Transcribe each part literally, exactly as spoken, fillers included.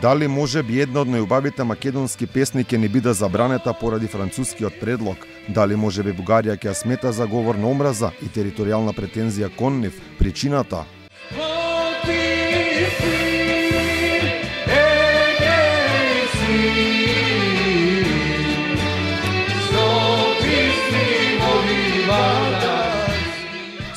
Дали може би една од најубавите македонски песни ќе ни биде забранета поради францускиот предлог? Дали може би Бугарија ќе ја смета за говор на омраза и територијална претензија кон нив причината?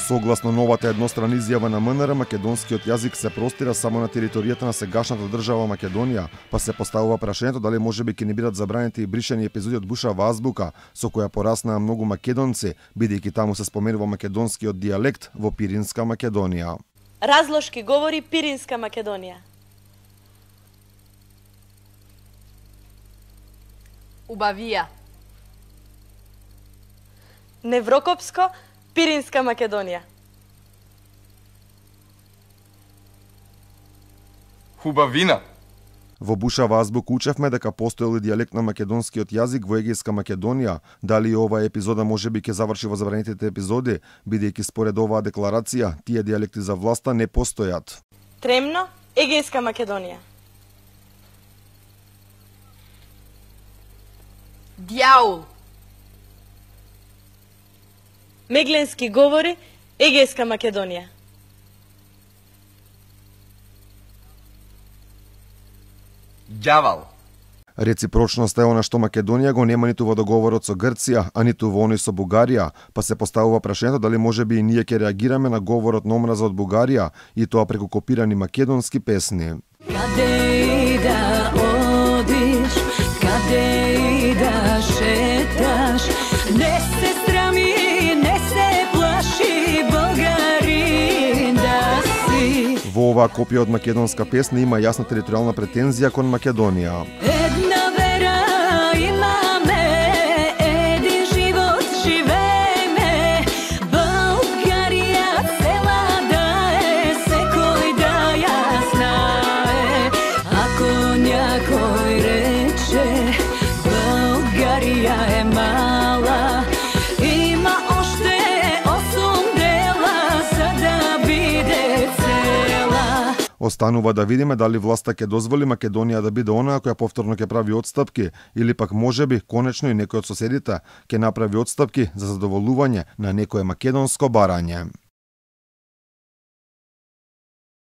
Согласно новата едностранна изјава на МНР, македонскиот јазик се простира само на територијата на сегашната држава Македонија, па се поставува прашањето дали можеби ќе ни бидат забранети и бришани епизоди од Бушава азбука, со која пораснаа многу македонци, бидејќи таму се споменува македонскиот дијалект во Пиринска Македонија. Разлошки говори Пиринска Македонија. Убавија. Неврокопско, Пиринска Македонија. Хубавина. Во Бушава азбука учевме дека постоел и дијалект на македонскиот јазик во Егејска Македонија. Дали и оваа епизода можеби ќе заврши во забранетите епизоди, бидејќи според оваа декларација, тие дијалекти за власта не постојат. Тремно, Егејска Македонија. Дјаул. Мегленски говори Егејска Македонија. Ѓавал. Реципрочноста е она што Македонија го нема ниту во договорот со Грција, а ниту во оној со Бугарија, па се поставува прашањето дали можеби и ние ќе реагираме на говорот на омраза од Бугарија и тоа преку копирани македонски песни. Каде и да одиш, каде и да шеташ, не се срами, не се плаши, Българин да си. Во оваа копија од македонска песна има јасна територијална претензија кон Македонија. Една вера имаме, един живот живееме, Българија цела да е, секој да ја знае. Ако някој рече, Българија е мала, има оште осум дела за да биде цела. Останува да видиме дали власта ќе дозволи Македонија да биде онаа која повторно ќе прави отстапки, или пак можеби конечно и некој од соседите ќе направи отстапки за задоволување на некое македонско барање.